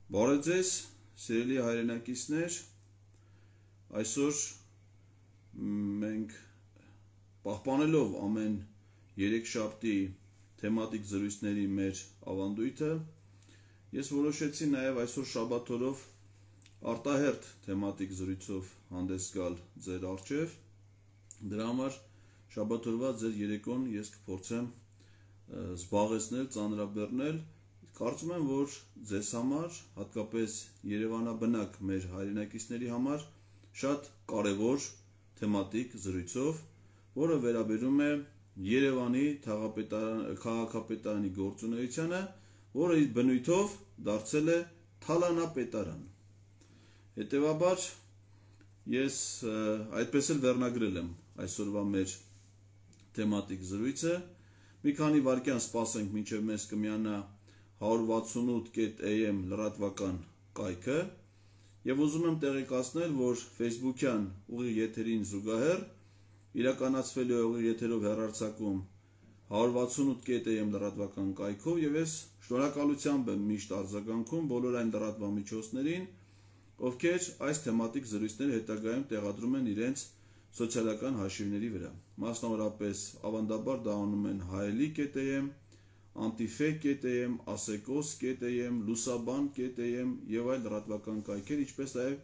Բարև ձեզ, սիրելի հայրենակիցներ, այսօր մենք պահպանելով ամեն երեքշաբթի թեմատիկ զրույցների մեր ավանդույթը, ես որոշեցի նաև այսօր շաբաթօրով արտահերթ թեմատիկ զրույցով հանդես գալ ձեր առջև, դրա համար շաբաթօրվա ձեր երեկոն ես կփորձեմ զբաղեցնել, ծանրաբեռնել. Կարծում եմ, որ ձեզ համար, հատկապես երևանաբնակ մեր հայրենակիցների համար շատ կարևոր թեմատիկ զրույցով, որը վերաբերում է Երևանի քաղաքապետարանի գործունեությանը, որը իր բնույթով դարձել է թալանապետարան։ Հետևաբար ես այդպես էլ վերնագրել եմ այսօրվա մեր թեմատիկ զրույցը, մի քանի վայրկյան սպասենք մինչև մեզ կմիանա 168.am լրատվական կայքը եւ ուզում եմ տեղեկացնել, որ Facebook-յան ուղիղ եթերին զուգահեռ իրականացվելու է ուղիղ եթերով հեռարձակում 168.am լրատվական կայքով եւ ես շնորհակալությամբ եմ միշտ արձագանքում բոլոր այն լրատվամիջոցներին, ովքեր այս թեմատիկ զրույցները հետագայում տեղադրում են իրենց սոցիալական հաշիվների վրա։ Մասնավորապես ավանդաբար դա անում են հայելի.am, Antife.am, Asecos.am, Lusabан.am եւ այլ լրատվական կայքեր, ինչպես նաեւ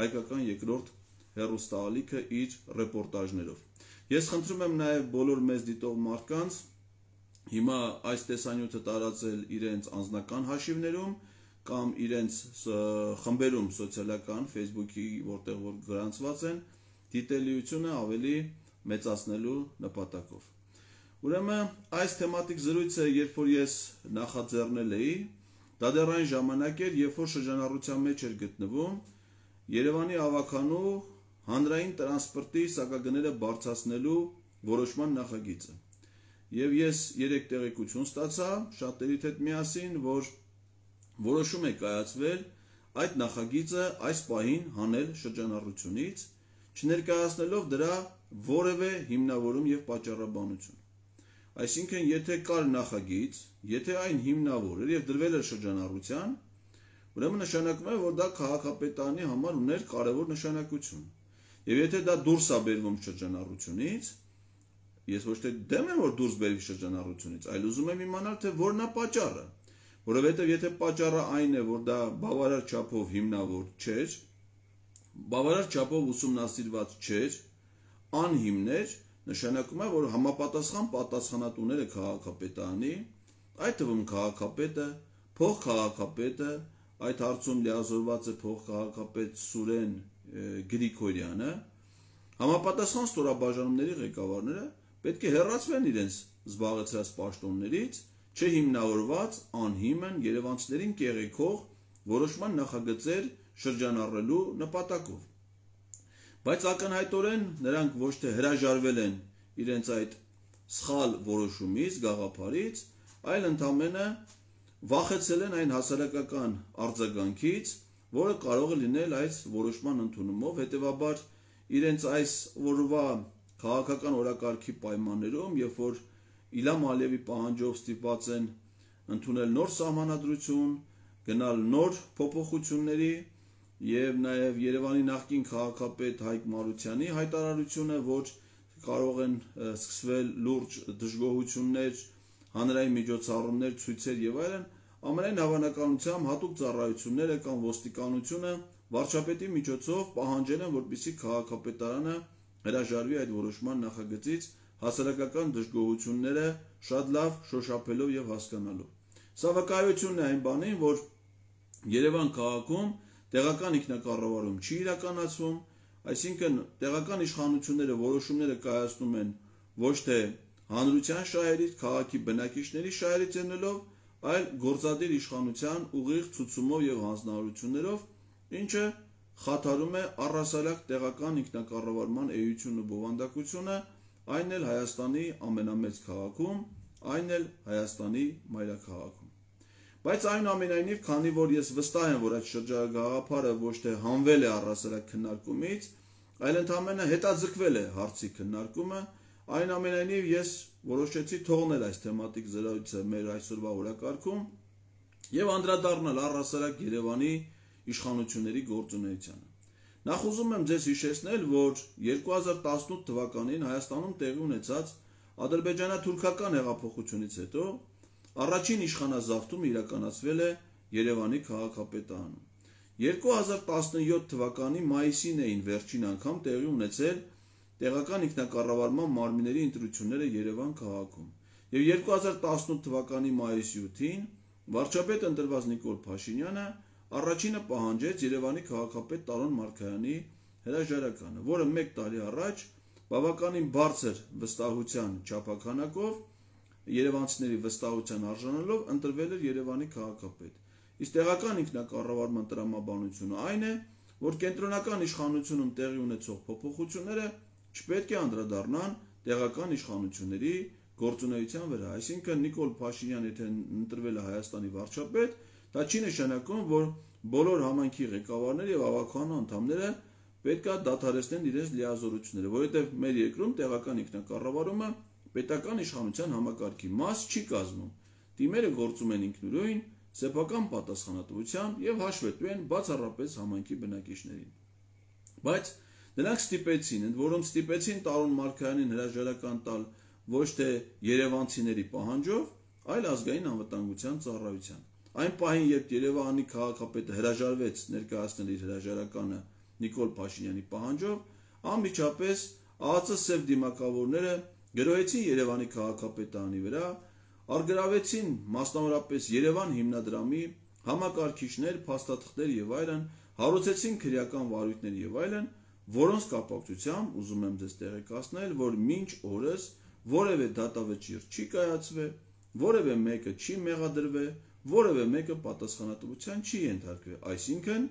հայկական երկրորդ հեռուստաալիքը իր ռեպորտաժներով։ Ես խնդրում եմ նաեւ բոլոր մեզ դիտող մարդկանց հիմա այս տեսանյութը տարածել իրենց անձնական հաշիվներում կամ իրենց խմբերում սոցիալական Facebook-ի, որտեղ որ գրանցված են, դիտելիությունը ավելի մեծացնելու նպատակով։ Ուրեմն այս թեմատիկ զրույցը, երբ որ ես նախաձեռնել էի, դա դեռ այն ժամանակ էր, երբ որ շրջանառության մեջ էր գտնվում Երևանի ավականու հանրային տրանսպորտի սակագները բարձրացնելու որոշման նախագիծը։ Եվ ես 3 տեղեկություն ստացա շատերիդ հետ միասին, որ որոշում է կայացվել այդ նախագիծը այս պահին հանել շրջանառությունից, չներկայացնելով դրա որևէ հիմնավորում եւ պատճառաբանություն։ Այսինքն, եթե կար նախագիծ, եթե այն հիմնավոր էր եւ դրվել էր շրջանառության, ուրեմն նշանակում է, որ դա քաղաքապետարանի համար ուներ կարևոր նշանակություն։ Եվ եթե դա դուրս է բերվում շրջանառությունից, ես ոչ թե դեմ եմ, որ դուրս բերվի շրջանառությունից, այլ ուզում եմ իմանալ, թե որն է պատճառը, որովհետեւ եթե պատճառը այն է, որ դա բավարար չափով հիմնավոր չէր, բավարար չափով ուսումնասիրված չէր, անհիմն էր, նշանակում է, որ համապատասխան պատասխանատուները քաղաքապետարանի, այդ թվում քաղաքապետը, փոխքաղաքապետը, այդ հարցում լիազորված է փոխքաղաքապետ Սուրեն Գրիգորյանը, համապատասխան ստորաբաժանումների ղեկավարները պետք է հեռացվեն իրենց զբաղեցրած պաշտոններից, չհիմնավորված, անհիմն երևանցիներին կեղեքող որոշման նախագծեր շրջանառելու նպատակով։ Բայց ակնհայտորեն նրանք ոչ թե հրաժարվել են իրենց այդ սխալ որոշումից, գաղափարից, այլ ընդամենը վախեցել են այն հասարակական արձագանքից, որը կարող է լինել այս որոշման ընդունումով, հետևաբար իրենց այս օրվա քաղաքական օրակարգի պայմաններում, երբ որ Իլհամ Ալիևի պահանջով ստիպված են ընդունել նոր սահմանադրություն, գնալ նոր փոփոխությունների եւ նաեւ Երևանի նախկին քաղաքապետ Հայկ Մարությանի հայտարարությունը, որ կարող են սկսվել լուրջ դժգոհություններ, հանրային միջոցառումներ, ցույցեր եւ այլն, ամենայն հավանականությամբ հատուկ ծառայությունները կամ ոստիկանությունը վարչապետի միջոցով պահանջել են, որպեսզի քաղաքապետարանը հրաժարվի այդ որոշման նախագծից հասարակական դժգոհությունները շատ լավ շոշափելով եւ հասկանալով։ Սա վկայությունն է այն բանին, որ Երևան քաղաքում տեղական ինքնակառավարում չի իրականացվում, այսինքն տեղական իշխանությունները որոշումները կայացնում են ոչ թե հանրության շահերից, քաղաքի բնակիչների շահերից ելնելով, այլ գործադիր իշխանության ուղիղ ցուցումով եւ հանձնարարություններով, ինչը խաթարում է առհասարակ տեղական ինքնակառավարման էությունն ու բովանդակությունը, այն էլ Հայաստանի ամենամեծ քաղաքում, այն էլ Հայաստանի մայրաքաղաքում։ Բայց այնուամենայնիվ, քանի որ ես վստահ եմ, որ այդ շրջագաղափարը ոչ թե հանվել է առհասարակ քննարկումից, այլ ընդամենը հետաձգվել է հարցի քննարկումը, այնուամենայնիվ ես որոշեցի թողնել այս թեմատիկ զրույցը մեր այսօրվա օրակարգում եւ անդրադառնալ առհասարակ Երևանի իշխանությունների գործունեությանը։ Նախ ուզում եմ ձեզ հիշեցնել, որ 2018 թվականին Հայաստանում տեղի ունեցած ադրբեջանա-թուրքական հեղափոխությունից հետո առաջին իշխանազավթումը իրականացվել է Երևանի քաղաքապետարանում։ 2017 թվականի մայիսին էին վերջին անգամ տեղի ունեցել տեղական ինքնակառավարման մարմինների ընտրությունները Երևան քաղաքում։ Եվ 2018 թվականի մայիսի 8-ին վարչապետ ընտրված Նիկոլ Փաշինյանը առաջինը պահանջեց Երևանի քաղաքապետ Տարոն Մարգարյանի հրաժարականը, որը 1 տարի առաջ բավականին բարձր վստահության չափաքանակով երևանցիների վստահության արժանանալով ընտրվել էր Երևանի քաղաքապետ։ Իսկ տեղական ինքնակառավարման տրամաբանությունը այն է, որ կենտրոնական իշխանությունում տեղի ունեցող փոփոխությունները չպետք է անդրադառնան տեղական իշխանությունների գործունեության վրա։ Այսինքն Նիկոլ Փաշինյանը եթե ընտրվել է Հայաստանի վարչապետ, դա չի նշանակում, որ բոլոր համայնքի ղեկավարները եւ ավականու անդամները պետք է դադարեցնեն իրենց լիազորությունները, որովհետեւ մեր երկրում տեղական ինքնակառավարումը պետական իշխանության համակարգի մաս չի կազմում։ Թիմերը գործում են ինքնուրույն, սեփական պատասխանատվությամբ եւ հաշվետու են բացառապես համայնքի բնակիչներին։ Բայց նրանք ստիպեցին, ընդ որում ստիպեցին Տարոն Մարգարյանին հրաժարական տալ ոչ թե երևանցիների պահանջով, այլ ազգային անվտանգության ծառայության։ Այն պահին, երբ Երևանի քաղաքապետը հրաժարվեց ներկայացնել իր հրաժարականը Նիկոլ Փաշինյանի պահանջով, անմիջապես ԱԱԾ սև դիմակավորները գրոհեցին Երևանի քաղաքապետարանի վրա, արգրավեցին մասնավորապես Երևան հիմնադրամի համակարգիչներ, փաստաթղթեր եւ այլն, հարուցեցին քրեական վարույթներ եւ այլն, որոնց կապակցությամբ ուզում եմ ձեզ տեղեկացնել, որ մինչ օրս որևէ դատավճիռ չի կայացվել, որևէ մեկը չի մեղադրվել, որևէ մեկը պատասխանատվության չի ենթարկվել, այսինքն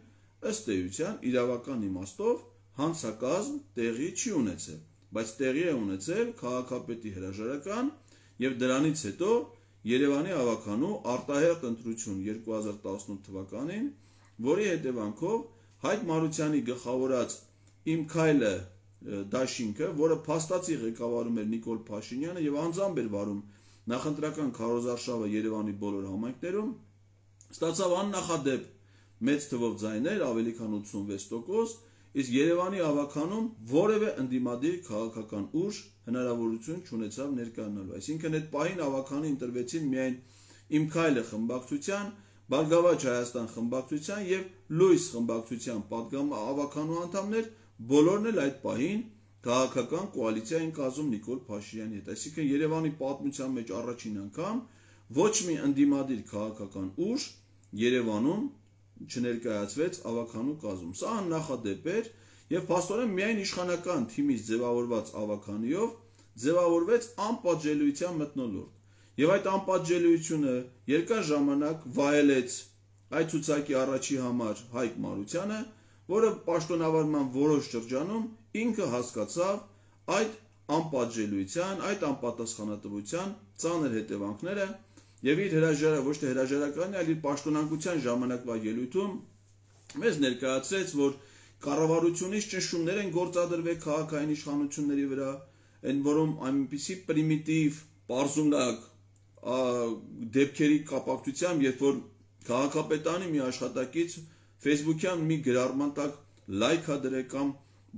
ըստ էության իրավական իմաստով հանցակազմ տեղի չի ունեցել, բայց տեղի է ունեցել քաղաքապետի հրաժարական եւ դրանից հետո Երևանի ավականու արտահերթ ընտրություն 2018 թվականին, որի հետևանքով Հայկ Մարությանի գլխավորած Իմ քայլը դաշինքը, որը փաստացի ղեկավարում էր Նիկոլ Փաշինյանը եւ անձամբ էր վարում նախընտրական քարոզարշավը Երևանի բոլոր համայնքներում, ստացավ աննախադեպ մեծ թվով ձայներ, ավելի քան 86%, իսկ Երևանի ավականում որևէ ընդդիմադիր քաղաքական ուժ հնարավորություն չունեցավ ներկայանալու։ Այսինքն այդ պահին ավականի ընտրվեցին միայն Իմ քայլը խմբակցության, Բարգավաճ Հայաստան խմբակցության եւ Լույս խմբակցության պատգամ ավականու անդամներ, բոլորն էլ այդ պահին քաղաքական կոալիցիա են կազմում Նիկոլ Փաշինյանի հետ։ Այսինքն Երևանի պատմության մեջ առաջին անգամ ոչ մի ընդդիմադիր քաղաքական ուժ Երևանում չներկայացվեց ավականու կազմում։ Սա աննախադեպ էր եւ փաստորեն միայն իշխանական թիմից ձևավորված ավականիով ձևավորվեց անպատժելիության մթնոլորտ։ Եվ այդ անպատժելիությունը երկար ժամանակ վայելեց այդ ցուցակի առաջի համար Հայկ Մարությանը, որը պաշտոնավարման որոշ շրջանում ինքը հասկացավ այդ անպատժելիության, այդ անպատասխանատվության ծանր հետևանքները եւ իր ոչ թե հրաժարականի, այլ իր պաշտոնանկության ժամանակվա ելույթում մեզ ներկայացրեց, որ կառավարությունից ճնշումներ են գործադրվել քաղաքային իշխանությունների վրա, այն որում այնպիսի պրիմիտիվ, պարզունակ դեպքերի կապակցությամբ, երբ որ քաղաքապետարանի մի աշխատակից Facebook-յան մի գրառման տակ լայք ա դրել կամ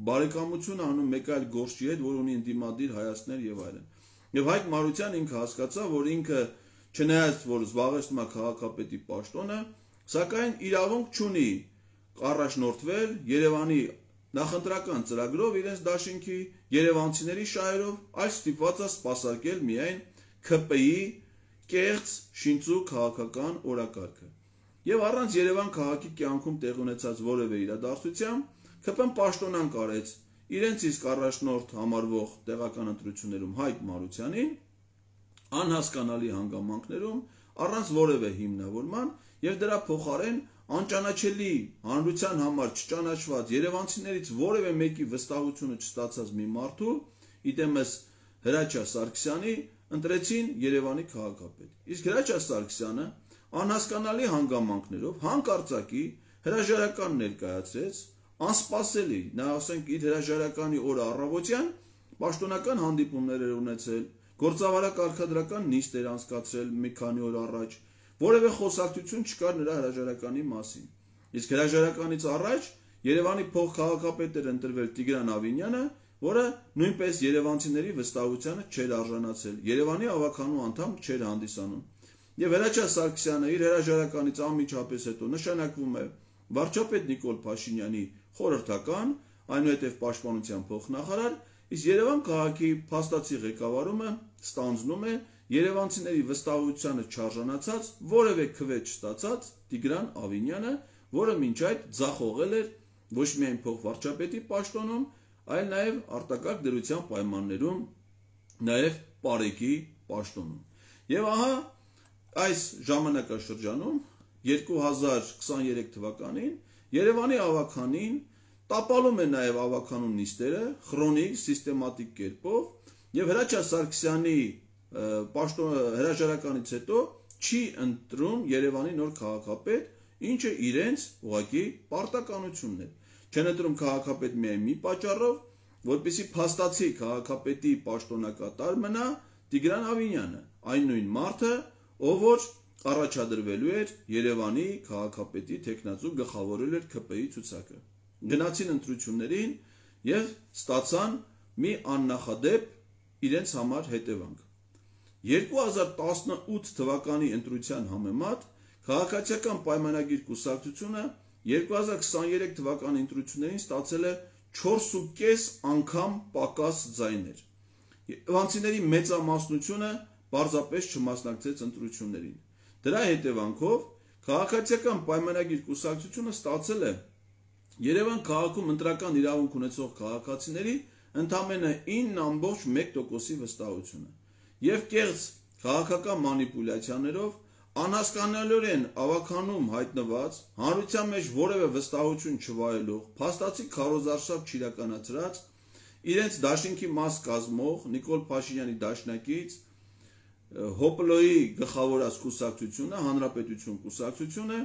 բարեկամություն անում մեկ այլ գործի հետ, որ ունի ընդդիմադիր հայացքներ եւ այլն։ Եվ Հայկ Մարությանը ինքը հասկացավ, որ ինքը չնայած որ զբաղեցնում է քաղաքապետի պաշտոնը, սակայն իրավունք չունի առաջնորդվել Երևանի նախընտրական ծրագրով իրենց դաշինքի երևանցիների շահերով, այլ ստիպված է սպասարկել միայն ՔՊ-ի կեղծ շինծու քաղաքական օրակարգը։ Եվ առանց Երևան քաղաքի կյանքում տեղ ունեցած որևէ իրադարձության, ՔՊ-ն պաշտոնանկ արեց իրենց իսկ առաջնորդ համարվող տեղական ընտրություններում Հայկ Մարությանին, անհասկանալի հանգամանքներում, առանց որևէ հիմնավորման եւ դրա փոխարեն անճանաչելի հանրության համար չճանաչված երևանցիներից որևէ մեկի վստահությունը չստացած մի մարդու, իտեմս Հրաչյա Սարգսյանի, ընտրեցին Երևանի քաղաքապետ։ Իսկ Հրաչյա Սարգսյանը անհասկանալի հանգամանքներով հանկարծակի հրաժարական ներկայացրեց, անսպասելի, նա ասենք իր հրաժարականի օրը առավոտյան պաշտոնական հանդիպումներ էր ունեցել, գործավարակարգադրական նիստ էր անցկացրել մի քանի օր առաջ, որևէ խոսակցություն չկար նրա հրաժարականի մասին։ Իսկ հրաժարականից առաջ Երևանի փոխքաղաքապետ էր ընտրվել Տիգրան Ավինյանը, որը նույնպես երևանցիների վստահությանը չէր արժանացել, Երևանի ավականու անդամ չէր հանդիսանում։ Եվ Հրաչյա Սարգսյանը իր հրաժարականից անմիջապես հետո նշանակվում է վարչապետ Նիկոլ Փաշինյանի խորհրդական, այնուհետև պաշտպանության փոխնախարար, իսկ Երևան քաղաքի փաստացի ղեկավարումը ստանձնում է երևանցիների վստահությանը չարժանացած, որևէ քվե չստացած Տիգրան Ավինյանը, որը մինչ այդ ձախողել էր ոչ միայն փոխվարչապետի պաշտոնում, այլ նաև արտակարգ դրության պայմաններում, նաև Պարեկի պաշտոնում։ Եվ ահա այս ժամանակաշրջանում 2023 թվականին Երևանի ավականին տապալում է նաև ավականու նիստերը քրոնիկ սիստեմատիկ կերպով եւ Հրաչյա Սարգսյանի հրաժարականից հետո չի ընտրում Երևանի նոր քաղաքապետ, ինչը իրենց ուղղակի պարտականությունն է։ Չեն ընտրում քաղաքապետ միայն մի պատճառով, որպեսզի փաստացի քաղաքապետի պաշտոնակատար մնա Տիգրան Ավինյանը, այն նույն մարդը, ով որ առաջադրվելու էր Երևանի քաղաքապետի տեխնացու գլխավորել էր ԿՊ-ի ցուցակը։ Գնացին ընտրություններին եւ ստացան մի աննախադեպ իրենց համար հետևանք։ 2018 թվականի ընտրության համեմատ քաղաքացիական պայմանագիր կուսակցությունը 2023 թվականի ընտրություններին ստացել է 4.5 անգամ պակաս ձայներ։ Երևանցիների մեծամասնությունը պարզապես չմասնակցեց ընտրություններին։ Դրա հետևանքով քաղաքացիական պայմանագիր կուսակցությունը ստացել է Երևան քաղաքում ընտրական իրավունք ունեցող քաղաքացիների ընդամենը 9.1%-ի վստահությունը եւ կեղծ քաղաքական մանիպուլյացիաներով անհասկանալիորեն ավականում հայտնված հանրության մեջ որևէ վստահություն չվայելող փաստացի քարոզարշավ չիրականացրած իրենց դաշինքի մաս կազմող Նիկոլ Փաշինյանի դաշնակից Հոպլոյի գլխավորած կուսակցությունը, Հանրապետություն կուսակցությունը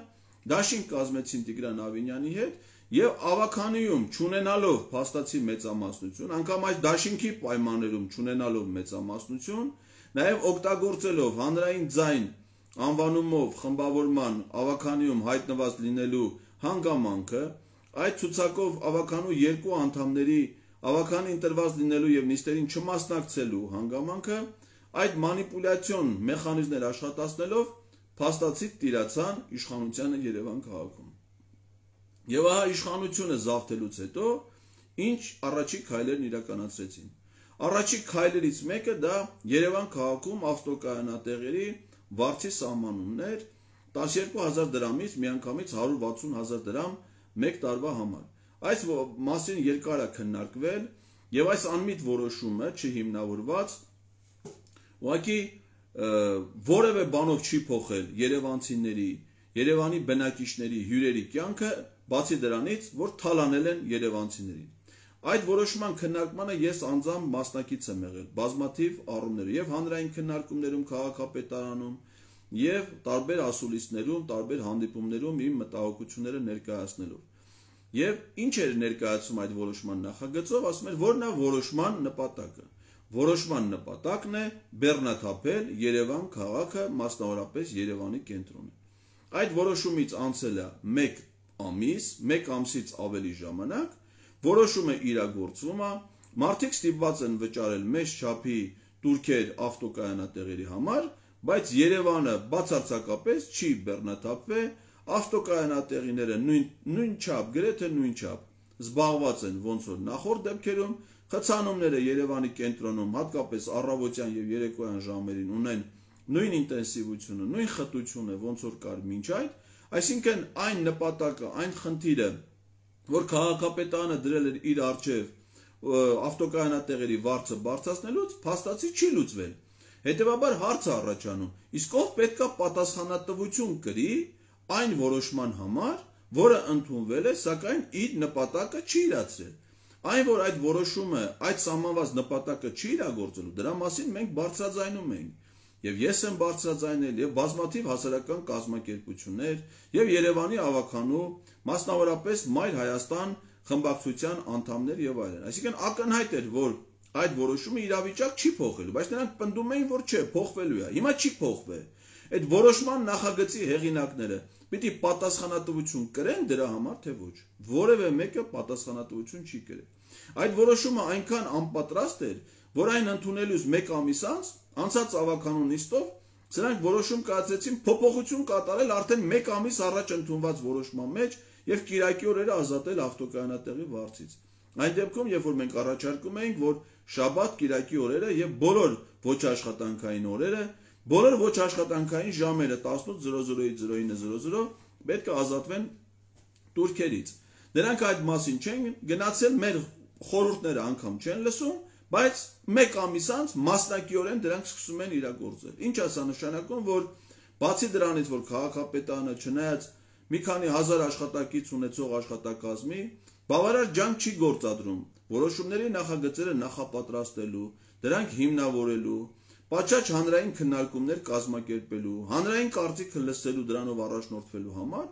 դաշինք կազմեցին Տիգրան Ավինյանի հետ եւ ավականիում չունենալով փաստացի մեծամասնություն, անգամ այս դաշինքի պայմաններում չունենալով մեծամասնություն, նաեւ օգտագործելով հանրային ձայն անվանումով խմբավորման ավականիում հայտնված լինելու հանգամանքը, այդ ցուցակով ավականու երկու անդամների ավականի ընտրված լինելու եւ նիստերին չմասնակցելու հանգամանքը, այդ մանիպուլյացիոն մեխանիզմներ աշխատացնելով փաստացի տիրացան իշխանությանը Երևան քաղաքում։ Եվ ահա իշխանությունը զավթելուց հետո ինչ առաջի քայլերն իրականացրեցին։ Առաջի քայլերից մեկը դա Երևան քաղաքում ավտոկայանատեղերի վարձի սահմանումն էր 12000 դրամից միանգամից 160,000 դրամ մեկ տարվա համար։ Այս մասին երկար է քննարկվել եւ այս անմիտ որոշումը չհիմնավորված ուղղակի որևէ բանով չի փոխել երևանցիների, Երևանի բնակիչների հյուրերի կյանքը, բացի դրանից, որ թալանել են երևանցիներին։ Այդ որոշման քննարկմանը ես անձամբ մասնակից եմ եղել բազմաթիվ առումներով եւ հանրային քննարկումներում քաղաքապետարանում եւ տարբեր ասուլիսներում, տարբեր հանդիպումներում իմ մտահոգությունները ներկայացնելով։ Եվ ինչ էր ներկայացում այդ որոշման նախագծով, ասում էր, որն է որոշման նպատակը։ Որոշման նպատակն է բեռնաթափել Երևան քաղաքը, մասնավորապես Երևանի կենտրոնը։ Այդ որոշումից անցել է 1 ամիս, 1 ամսից ավելի ժամանակ, որոշումը իրագործվում է, մարդիկ ստիպված են վճարել մեծ չափի տուրքեր ավտոկայանատեղերի համար, բայց Երևանը բացարձակապես չի բեռնաթափվել, ավտոկայանատեղիները նույն չափ, գրեթե նույն չափ զբաղված են ոնց որ նախորդ դեպքերում, խցանումները Երևանի կենտրոնում, հատկապես առավոտյան եւ երեկոյան ժամերին ունեն նույն ինտենսիվությունը, նույն խտությունը, ոնց որ կար մինչ այդ, այսինքն այն նպատակը, այն խնդիրը, որ քաղաքապետարանը դրել էր իր արժեվ ավտոկայանատեղերի վարձը բարձրացնելուց, փաստացի չի լուծվել։ Հետևաբար հարց է առաջանում, իսկ ով պետքա պատասխանատվություն կրի այն որոշման համար, որը ընդունվել է, սակայն իր նպատակը չի իրացրել։ Այն որ այդ որոշումը, այդ սահմանված նպատակը չի իրագործելու, դրա մասին մենք բարձրաձայնում ենք։ Եվ ես եմ բարձրաձայնել, եւ բազմաթիվ հասարակական կազմակերպություններ, եւ Երևանի ավականու, մասնավորապես Մայր Հայաստան խմբակցության անդամներ եւ այլն։ Այսինքն ակնհայտ էր, որ այդ որոշումը իրավիճակ չի փոխելու, բայց նրանք պնդում էին, որ չէ, փոխվելու է։ Հիմա չի փոխվել։ Այդ որոշման նախագծի հեղինակները պիտի պատասխանատվություն կրեն դրա համար, թե ոչ։ Որևէ մեկը պատասխանատվություն չի կրել։ Այդ որոշումը այնքան անպատրաստ էր, որ այն ընդունելուց 1 ամիս անց անցած ավականու նիստով սրանք որոշում կայացրեցին փոփոխություն կատարել արդեն 1 ամիս առաջ ընդունված որոշման մեջ եւ կիրակի օրերը ազատել ավտոկայանատեղի վարձից։ Այն դեպքում, երբ որ մենք առաջարկում էինք, որ շաբաթ, կիրակի օրերը եւ բոլոր ոչ աշխատանքային օրերը, բոլոր ոչ աշխատանքային ժամերը 18:00-ից 09:00 պետք է ազատվեն турքերից։ Նրանք այդ մասին չեն գնացել, մեր խորհուրդները անգամ չեն լսում, բայց 1 ամիս անց մասնակիորեն դրանք սկսում են իրագործել։ Ինչ է սա նշանակում, որ բացի դրանից, որ քաղաքապետարանը չնայած մի քանի հազար աշխատակից ունեցող աշխատակազմի բավարար ջանք չի գործադրում որոշումների նախագծերը նախապատրաստելու, դրանք հիմնավորելու, պատշաճ հանրային քննարկումներ կազմակերպելու, հանրային կարծիքը լսելու, դրանով առաջնորդվելու համար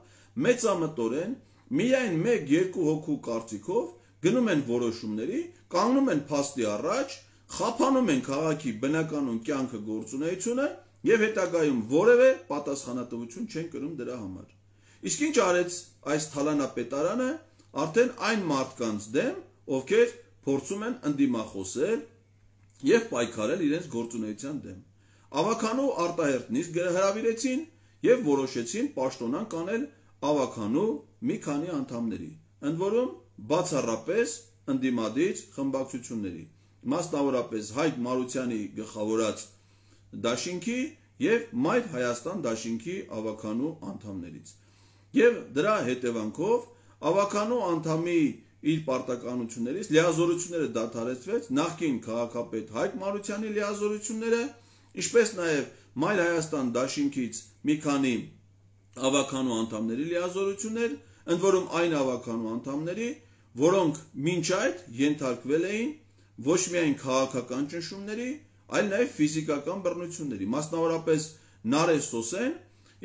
մեծամտորեն միայն 1-2 հոգու կարծիքով գնում են որոշումների, կանգնում են փաստի առաջ, խափանում են քաղաքի բնականոն կյանքը գործունեությունը եւ հետագայում որևէ պատասխանատվություն չեն կրում դրա համար։ Իսկ ինչ արեց այս թալանապետարանը արդեն այն մարդկանց դեմ, ովքեր փորձում են ընդդիմախոսել եւ պայքարել իրենց գործունեության դեմ։ Ավականու արտահերթ նիստ հրավիրեցին եւ որոշեցին պաշտոնան կանել ավականու մի քանի անդամների, ընդ որում բացառապես ընդդիմադիր խմբակցությունների, մասնավորապես Հայկ Մարությանի գլխավորած դաշինքի եւ Մայր Հայաստան դաշինքի ավականու անդամներից։ Եվ դրա հետևանքով ավականու անդամի իր պարտականություններից լիազորությունները դադարեցվեց, նախկին քաղաքապետ Հայկ Մարությանի լիազորությունները, ինչպես նաեւ Մայր Հայաստան դաշինքից մի քանի ավականու անդամների լիազորություններ, ընդ որում այն ավականու անդամների, որոնք մինչ այդ ենթարկվել էին ոչ միայն քաղաքական ճնշումների, այլ նաև ֆիզիկական բռնությունների։ Մասնավորապես Նարէ Սոսեն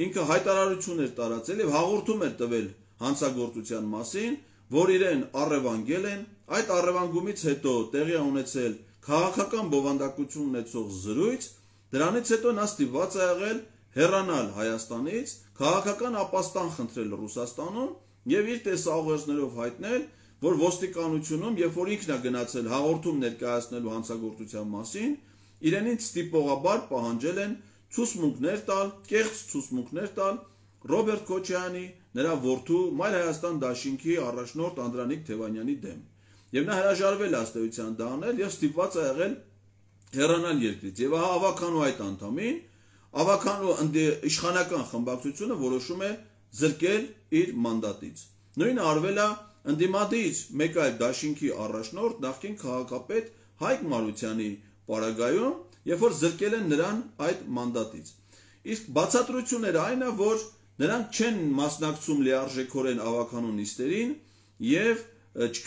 ինքը հայտարարություն էր տարածել եւ հաղորդում էր տվել հանցագործության մասին, որ իրեն առևանգել են, այդ առևանգումից հետո տեղի է ունեցել քաղաքական բովանդակություն ունեցող զրույց, դրանից հետո նա ստիպված է եղել հեռանալ Հայաստանից, քաղաքական ապաստան խնդրել Ռուսաստանում եւ իր տեսաուղերձներով հայտնել, որ ոստիկանությունում, երբ որ ինքն է գնացել հաղորդում ներկայացնելու հանցագործության մասին, իրենից ստիպողաբար պահանջել են ցուցմունքներ տալ, կեղծ ցուցմունքներ տալ Ռոբերտ Քոչարյանի, նրա որդու Մայր Հայաստան դաշինքի առաջնորդ Անդրանիկ Թևանյանի դեմ։ Եվ նա հրաժարվել է ըստ էության դա անել եւ ստիպված է եղել հեռանալ երկրից։ Եվ ահա ավականու այդ անդամին, ավականու իշխանական խմբակցությունը որոշում է զրկել իր մանդատից։ Նույնը արվել է ընդդիմադիր մեկ այլ դաշինքի առաջնորդ նախկին քաղաքապետ Հայկ Մարությանի պարագայում, երբ որ զրկել են նրան այդ մանդատից։ Իսկ բացատրությունները այն է, որ նրանք չեն մասնակցում լիարժեքորեն ավականու նիստերին եւ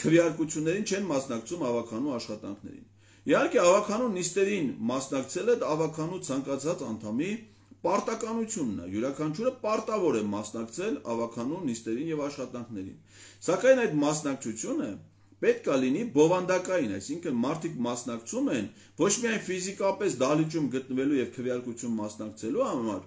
քվեարկություններին չեն մասնակցում ավականու աշխատանքներին։ Իհարկե ավականու նիստերին մասնակցելը ավականու ցանկացած անդամի պարտականությունն է, յուրաքանչյուրը պարտավոր է մասնակցել ավականու նիստերին եւ աշխատանքներին։ Սակայն այդ մասնակցությունը պետք է լինի բովանդակային, այսինքն մարդիկ մասնակցում են ոչ միայն ֆիզիկապես դահլիճում գտնվելու եւ քվեարկություն մասնակցելու համար,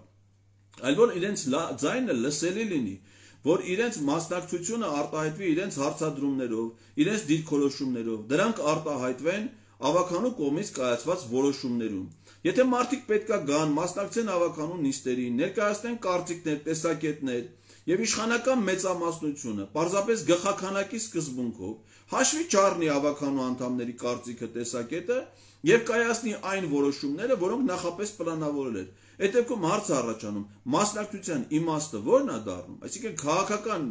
այլ որ իրենց ձայնը լսելի լինի, որ իրենց մասնակցությունը արտահայտվի իրենց հարցադրումներով, իրենց դիրքորոշումներով, դրանք արտահայտվեն ավականու կողմից կայացված որոշումներում։ Եթե մարդիկ պետքա գան, մասնակցեն ավականու նիստերին, ներկայացնեն կարծիքներ, տեսակետներ եւ իշխանական մեծամասնությունը պարզապես գլխաքանակի սկզբունքով հաշվի չառնի ավականու անդամների կարծիքը, տեսակետը եւ կայացնի այն որոշումները, որոնք նախապես պլանավորել էր։ Այդ դեպքում հարց է առաջանում, մասնակցության իմաստը ո՞րն է դառնում։ Այսինքն քաղաքական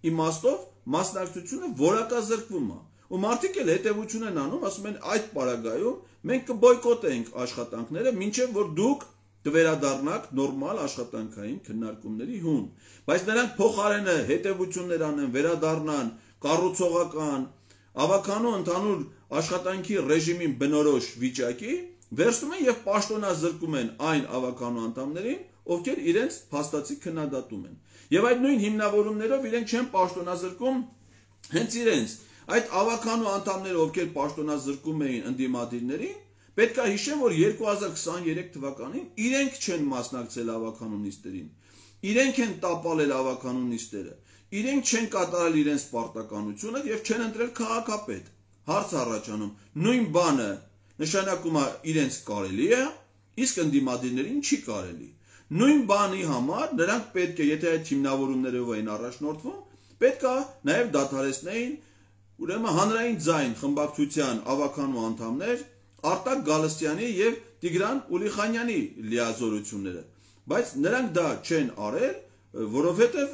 իմաստով մասնակցությունը որակազրկվում է։ Ու մարդիկ էլ հետևություն են անում, ասում են այդ պարագայում մենք կբոյկոտենք աշխատանքները, մինչև որ դուք կվերադառնաք նորմալ աշխատանքային քննարկումների հուն։ Բայց նրանք փոխարենը հետևություններ անեն, վերադառնան կառուցողական, ավականու ընդհանուր աշխատանքի ռեժիմին բնորոշ վիճակի, վերցնում են եւ պաշտոնազրկում են այն ավականու անդամներին, ովքեր իրենց փաստացի քննադատում են։ Եվ այդ նույն հիմնավորումներով իրենք չեն պաշտոնազրկում հենց իրենց այդ ավականու անդամները, ովքեր պաշտոնազրկում էին ընդդիմադիրներին, Պետք է հիշեմ, որ 2023 թվականին իրենք չեն մասնակցել ավականու նիստերին, իրենք են տապալել ավականու նիստերը, իրենք չեն կատարել իրենց պարտականությունը եւ չեն ընտրել քաղաքապետ։ Հարց առաջանում, նույն բանը նշանակում է իրենց կարելի է, իսկ ընդդիմադիրներին չի կարելի։ Նույն բանի համար նրանք պետք է, եթե այդ հիմնավորումներով էին առաջնորդվում, պետք է նաև դադարեցնեին ուրեմն հանրային ձայն խմբակցության ավականու անդամներ Արտակ Գալստյանի եւ Տիգրան Ուլիխանյանի լիազորությունները, բայց նրանք դա չեն արել, որովհետեւ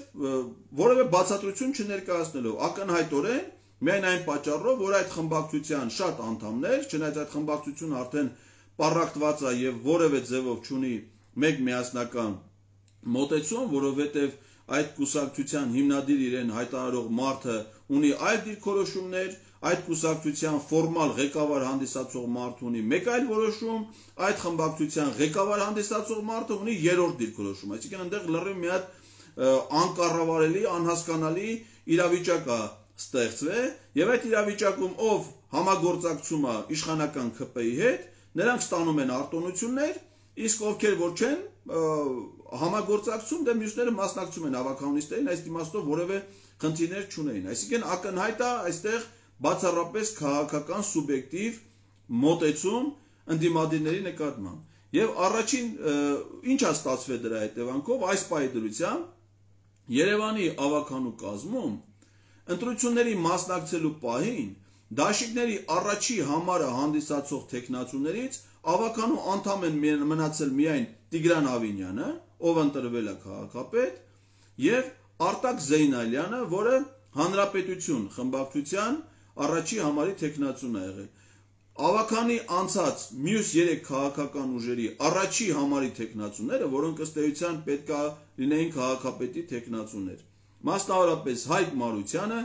որևէ բացատրություն չներկայացնելով ակնհայտորեն միայն այն պատճառով, որ այդ խմբակցության շատ անդամներ, չնայած այդ խմբակցությունը արդեն պառակտված է եւ որևէ ձևով չունի մեկ միասնական մոտեցում, որովհետեւ այդ կուսակցության հիմնադիր իրեն հայտարարող մարդը ունի այլ դիրքորոշումներ, այդ կուսակցության ֆորմալ ղեկավար հանդիսացող մարդը ունի մեկ այլ որոշում, այդ խմբակցության ղեկավար հանդիսացող մարդը ունի երրորդ դիրքորոշում, այսինքն այնտեղ լրիվ մի հատ անկառավարելի, անհասկանալի իրավիճակ է ստեղծվել, եւ այդ իրավիճակում ով համագործակցում է իշխանական ԿՊ-ի հետ, նրանք ստանում են արտոնություններ, իսկ ովքեր որ չեն համագործակցում, դե մյուսները մասնակցում են ավականունիստերին, այս իմաստով որևէ խնդիրներ չունեին։ Այսինքն ակնհայտ է այստեղ բացառապես քաղաքական սուբյեկտիվ մոտեցում ընդդիմադիրների նկատմամբ։ Եվ առաջին ինչ է ստացվել դրա հետևանքով, այս պահի դրությամբ Երևանի ավականու կազմում ընտրությունների մասնակցելու պահին դաշինքների առաջի համարը հանդիսացող տեխնացուներից ավականու անդամ են մնացել միայն Տիգրան Ավինյանը, ով ընտրվել է քաղաքապետ, եւ Արտակ Զեյնալյանը, որը Հանրապետություն խմբակցության առաջի համարի տեխնացուն է եղել։ Ավականի անցած մյուս 3 քաղաքական ուժերի առաջի համարի տեխնացուները, որոնք ըստ էության պետք է լինեին քաղաքապետի տեխնացուներ, մասնավորապես Հայկ Մարությանը,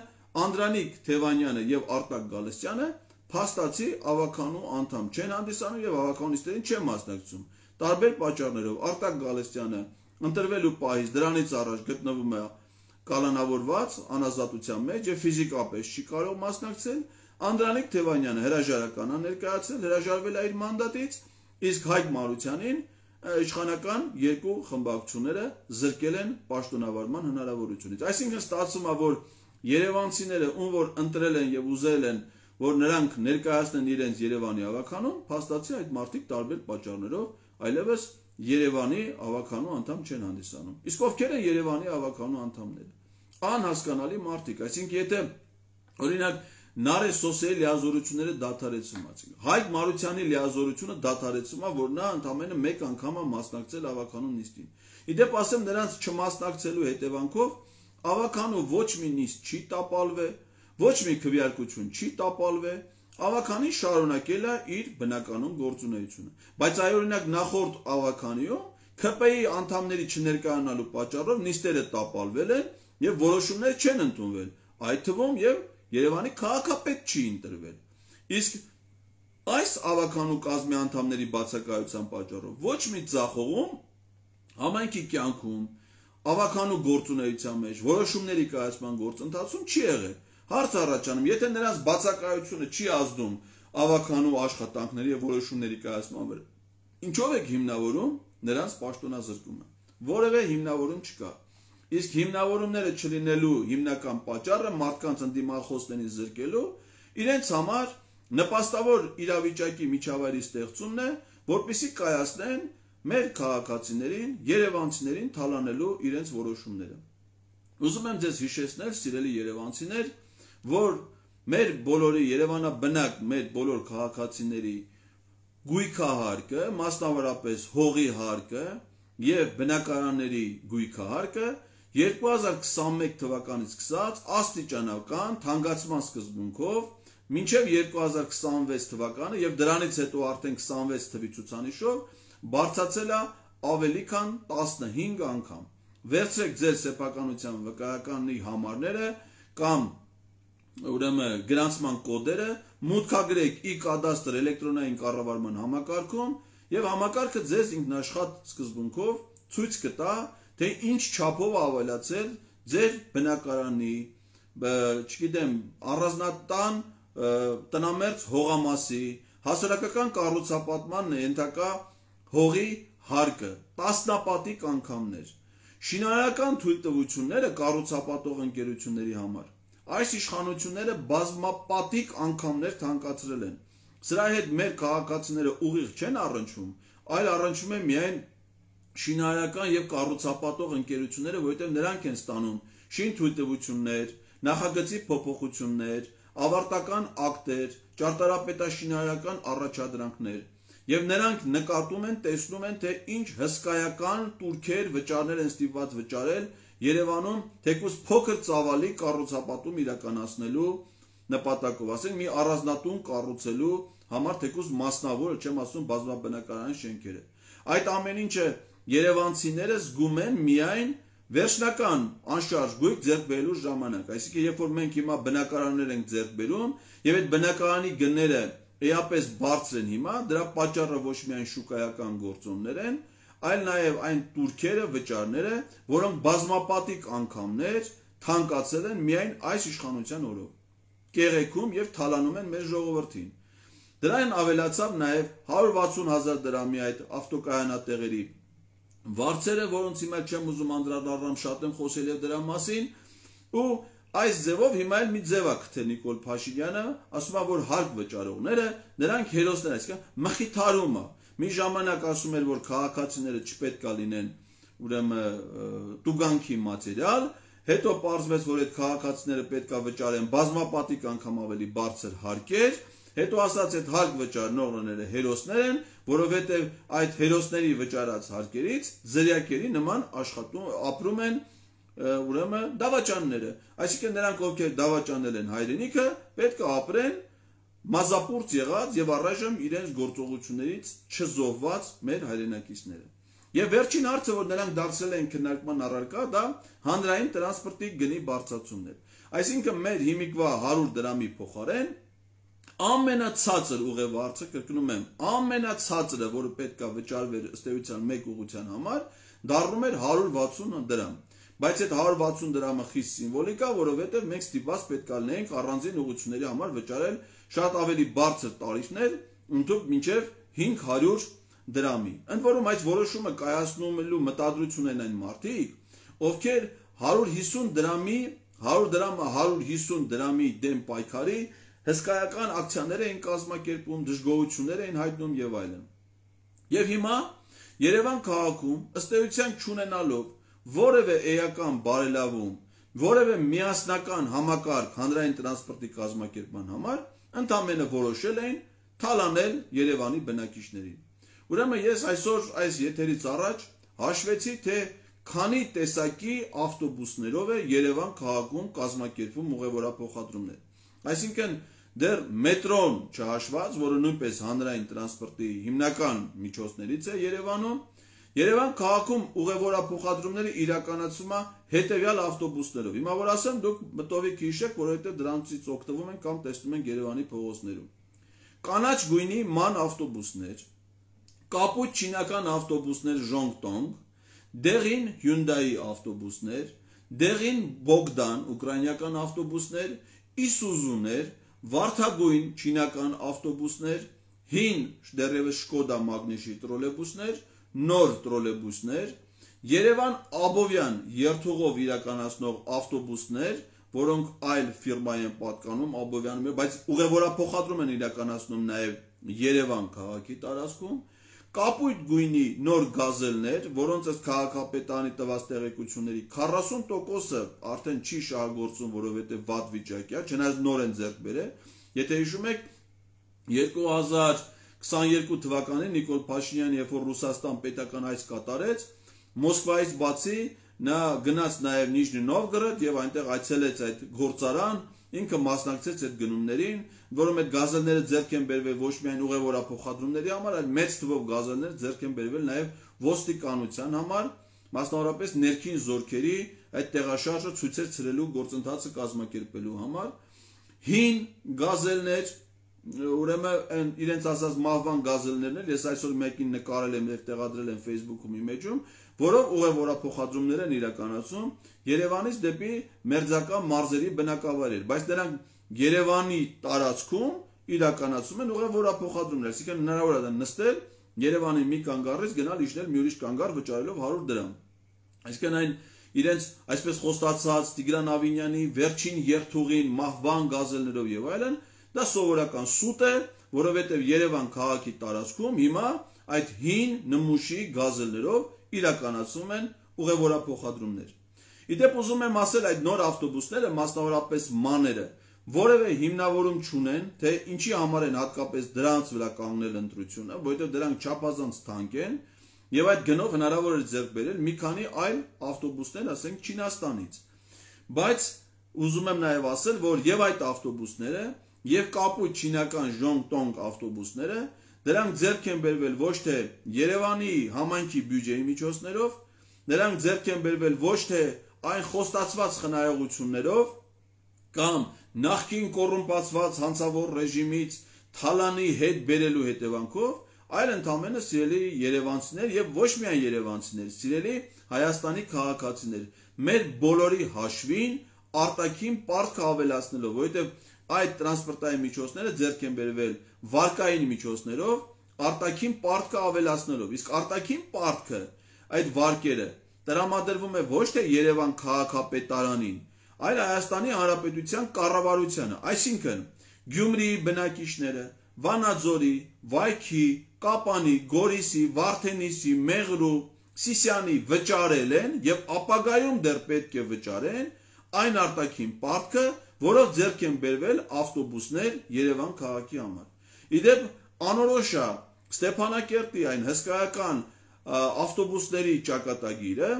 Անդրանիկ Թևանյանը եւ Արտակ Գալստյանը փաստացի ավականու անդամ չեն հանդիսանում եւ ավականունիստերին չեն մասնակցում։ Տարբեր պատճառներով Արտակ Գալստյանը ընտրվելու պահից դրանից առաջ գտնվում է կալանավորված անազատության մեջ եւ ֆիզիկապես չի կարող մասնակցել։ Անդրանիկ Թևանյանը հրաժարական է ներկայացել, հրաժարվել է իր մանդատից, իսկ Հայկ Մարությանին իշխանական երկու խմբակցությունները զրկել են պաշտոնավարման հնարավորությունից։ Այսինքն ստացվում է, որ երևանցիները, ում որ ընտրել են եւ ուզել են, որ նրանք ներկայացնեն իրենց Երևանի ավականուն, փաստացի այդ մարդիկ տարբեր պատճառներով այլևս Երևանի ավականու անդամ չեն հանդիսանում։ Իսկ ովքեր են Երևանի ավականու անդամները։ Անհասկանալի մարդիկ, այսինքն եթե օրինակ Նարէ Սոսեի լիազորությունները դադարեցում է։ Հայկ Մարությանի լիազորությունը դադարեցում է, որ նա ընդամենը մեկ անգամ է մասնակցել ավականու նիստին։ Իդեպ ասեմ, նրանց չմասնակցելու հետևանքով ավականու ոչ մի նիստ չի տապալվել, ոչ մի քվեարկություն չի տապալվել, ավականին շարունակել է իր բնականon գործունեությունը։ Բայց այ օրինակ նախորդ ավականիում ԿՊ-ի անդամների չներկայանալու պատճառով նիստերը տապալվել են եւ որոշումներ չեն ընդունվել, այդ թվում եւ Երևանի քաղաքապետ չի ընտրվել։ Իսկ այս ավականու կազմի անդամների բացակայության պատճառով ոչ մի ձախողում համայնքի կյանքում, ավականու գործունեության մեջ, որոշումների կայացման գործընթացում չի եղել։ Հարց առաջանում, եթե նրանց բացակայությունը չի ազդում ավականու աշխատանքների եւ որոշումների կայացման վրա, ինչով եք հիմնավորում նրանց պաշտոնազրկումը։ Որևէ հիմնավորում չկա։ Իսկ հիմնավորումները չլինելու հիմնական պատճառը մարդկանց ընդդիմախոսներին զրկելու իրենց համար նպաստավոր իրավիճակի միջավայրի ստեղծումն է, որպեսզի կայացնեն մեր քաղաքացիներին, երևանցիներին թալանելու իրենց որոշումները։ Ուզում եմ ձեզ հիշեցնել, սիրելի երևանցիներ, որ մեր բոլորի Երևանաբնակ մեր բոլոր քաղաքացիների գույքահարկը, մասնավորապես հողի հարկը եւ բնակարանների գույքահարկը 2021 թվականից սկսած աստիճանական թանկացման սկզբունքով մինչև 2026 թվականը եւ դրանից հետո արդեն 26 թվի ցուցանիշով բարձրացել է ավելի քան 15 անգամ։ Վերցրեք ձեր սեփականության վկայականի համարները կամ ուրեմն գրանցման կոդերը, մուտքագրեք e-կադաստր էլեկտրոնային կառավարման համակարգում եւ համակարգը ձեզ ինքնաշխատ սկզբունքով ցույց կտա, թե ինչ չափով ավելացել ձեր բնակարանի, չգիտեմ, առանձնատան տնամերձ հողամասի, հասարակական կառուցապատման ենթակա հողի հարկը տասնապատիկ անգամներ, շինարարական թույլտվությունները կառուցապատող ընկերությունների համար այս իշխանությունները բազմապատիկ անգամներ թանկացրել են։ Սրա հետ մեր քաղաքացիները ուղիղ չեն առնչվում, այլ առնչվում են միայն շինարարական եւ կառուցապատող ընկերությունները, որովհետեւ նրանք են ստանում շինթույլտվություններ, նախագծի փոփոխություններ, ավարտական ակտեր, ճարտարապետաշինարարական առաջադրանքներ, եւ նրանք նկատում են, տեսնում են, թե ինչ հսկայական турքեր վճարներ են ստիպված վճարել Երևանում, թեկուզ փոքր ծավալի կառուցապատում իրականացնելու նպատակով, ասենք մի առանձնատուն կառուցելու համար, թեկուզ մասնավոր, չեմ ասում բազմաբնակարան շենքերը։ Այդ ամեն ինչը երևանցիները զգում են միայն վերջնական անշարժ գույք ձեռք բերելու ժամանակ, այսինքն երբ որ մենք հիմա բնակարաններ ենք ձեռք բերում եւ այդ բնակարանի գները էապես բարձր են հիմա, դրա պատճառը ոչ միայն շուկայական գործոններ են, այլ նաեւ այն турքերը, վճարները, որոնք բազմապատիկ անգամներ թանկացել են միայն այս իշխանության օրոք, կեղեքում եւ թալանում են մեր ժողովրդին։ Դրան ավելացավ նաեւ 160,000 դրամի այդ ավտոկայանատեղերի վարձերը, որոնց հիմա չեմ ուզում անդրադառնամ, շատ եմ խոսել եւ դրա մասին, ու այս ձևով հիմա էլ մի ձև է գտել Նիկոլ Փաշինյանը, ասում է, որ հարկ վճարողները, նրանք հերոսներ, այսինքն մխիթարումը։ Մի ժամանակ ասում էր, որ քաղաքացիները չպետք է լինեն, ուրեմն տուգանքի մատերիալ, հետո պարզվեց, որ այդ քաղաքացիները պետք է վճարեն բազմապատիկ անգամ ավելի բարձր հարկեր, հետո ասած այդ հարկ վճարողները հերոսներ են, որովհետև այդ հերոսների վճարած հարկերից զրյակերի նման ապրում են ուրեմն դավաճանները, այսինքն նրանք ովքեր դավաճանել են հայրենիքը, պետք է ապրեն մազապուրծ եղած եւ առայժմ իրենց գործողություններից չզոհված մեր հայրենակիցները։ Եվ վերջին հարցը, որ նրանք դարձել են քննարկման առարկա, դա հանրային տրանսպորտի գնի բարձրացումն է։ Այսինքն մեր հիմիկվա 100 դրամի փոխարեն ամենացածր ուղևորը, կրկնում եմ, ամենացածրը, որը պետք է վճարվեր ըստ էության մեկ ուղղության համար, դառնում էր 160 դրամ։ Բայց այդ 160 դրամը խիստ սիմվոլիկ է, որովհետև մենք ստիպված պետք է լինենք առանձին ուղղությունների համար վճարել շատ ավելի բարձր տարիֆներ, ընդհանուր մինչև 500 դրամի։ Ընդ որում այս որոշումը կայացնելու մտադրություն են այն մարդիկ, ովքեր 150 դրամի 150 դրամի դեմ պայքարի հսկայական ակցիաներ էին կազմակերպում, դժգոհություններ էին հայտնում եւ այլն։ Եվ հիմա Երևան քաղաքում ըստ էության չունենալով որևէ էական բարելավում, որևէ միասնական համակարգ հանրային տրանսպորտի կազմակերպման համար, ընդամենը որոշել էին թալանել Երևանի բնակիչներին։ Ուրեմն ես այսօր այս եթերից առաջ հաշվեցի, թե քանի տեսակի ավտոբուսներով է Երևան քաղաքում կազմակերպվում ուղևորափոխադրումներ։ Այսինքն դեռ մետրոն չհաշված, որը նույնպես հանրային տրանսպորտի հիմնական միջոցներից է Երևանում, Երևան քաղաքում ուղևորափոխադրումները իրականացվում է հետևյալ ավտոբուսներով։ Հիմա որ ասեմ, դուք մտովիկ հիշեք, որովհետև դրանցից օգտվում են կամ տեսնում են Երևանի փողոցներում։ Կանաչ գույնի ման ավտոբուսներ, կապույտ չինական ավտոբուսներ Ժոնգտոնգ, դեղին Hyundai ավտոբուսներ, դեղին Bogdan ուկրաինական ավտոբուսներ, Isuzu-ներ, վարդագույն չինական ավտոբուսներ, հին դեռևս Շկոդա Մագնիշի տրոլեյբուսներ, նոր տրոլեյբուսներ, Երևան Աբովյան երթուղով իրականացնող ավտոբուսներ, որոնք այլ ֆիրմայի են պատկանում Աբովյանում, բայց ուղևորափոխադրում են իրականացնում նաև Երևան քաղաքի տարածքում, կապույտ գույնի նոր գազելներ, որոնց ըստ քաղաքապետարանի տված տեղեկությունների 40%-ը արդեն չի շահագործում, որովհետև վատ վիճակի է, չնայած նոր են ձեռք բերել։ Եթե հիշում եք 2022 թվականին Նիկոլ Փաշինյանը, երբ որ Ռուսաստան պետական այց կատարեց, Մոսկվայից բացի նա գնաց նաև Նիժնի Նովգորոդ եւ այնտեղ այցելեց այդ գործարան, ինքը մասնակցեց այդ գնումներին, որում այդ գազելները ձեռք են բերվել ոչ միայն ուղևորափոխադրումների համար, այլ մեծ թվով գազելներ ձեռք են բերվել նաև ոստիկանության համար, մասնավորապես ներքին զորքերի այդ տեղաշարժը ցույցեր ցրելու գործընթացը կազմակերպելու համար, հին գազելներ, ուրեմն իրենց ասած մահվան գազելներն են, ես այսօր մեկին նկարել եմ եւ տեղադրել եմ Facebook-ում իմեջում, որով ուղևորափոխադրումներ են իրականացում Երևանից դեպի մերձակա մարզերի բնակավայրեր, բայց նրանք Երևանի տարածքում իրականացում են ուղևորափոխադրումներ, այսինքն հնարավոր է նստել Երևանի մի կանգառից գնալ իջնել մի ուրիշ կանգառ վճարելով 100 դրամ։ Այսինքն այն իրենց այսպես խոստացած Տիգրան Ավինյանի վերջին երթուղին մահվան գազելներով եւ այլն, դա սովորական սուտ է, որովհետեւ Երևան քաղաքի տարածքում հիմա այդ հին նմուշի գազելներով իրականացում են ուղևորափոխադրումներ։ Իդեպ ուզում եմ ասել, այդ նոր ավտոբուսները, մասնավորապես մաները, որևէ հիմնավորում չունեն, թե ինչի համար են հատկապես դրանց վրա կանգնել ընտրությունը, որովհետև դրանք չափազանց թանկ են, եւ այդ գնով հնարավոր է ձեռք բերել մի քանի այլ ավտոբուսներ, ասենք Չինաստանից։ Բայց ուզում եմ նաեւ ասել, որ եւ այդ ավտոբուսները, եւ կապույտ չինական Ժոնգտոնգ ավտոբուսները, դրանք ձեռք են բերվել ոչ թե Երևանի համայնքի բյուջեի միջոցներով, նրանք ձեռք են բերվել ոչ թե այն խոստացված խնայողություններով կամ նախկին կոռումպացված հանցավոր ռեժիմից թալանի հետ բերելու հետևանքով, այլ ընդամենը սիրելի երևանցիներ եւ ոչ միայն երևանցիներ, սիրելի Հայաստանի քաղաքացիներ, մեր բոլորի հաշվին արտաքին պարտքը ավելացնելով, որովհետեւ այդ տրանսպորտային միջոցները ձեռք են բերվել վարկային միջոցներով, արտաքին պարտքը ավելացնելով, իսկ արտաքին պարտքը այդ վարկերը տրամադրվում է ոչ թե Երևան քաղաքապետարանին, այլ Հայաստանի Հանրապետության կառավարությանը, այսինքն Գյումրիի բնակիչները, Վանաձորի, Վայքի, Կապանի, Գորիսի, Վարդենիսի, Մեղրու, Սիսիանի վճարել են եւ ապագայում դեռ պետք է վճարեն այն արտաքին պարտքը, որով ձեռք են բերվել ավտոբուսներ Երևան քաղաքի համար։ Իդեպ անորոշ է Ստեփանակերտի այն հսկայական ավտոբուսների ճակատագիրը,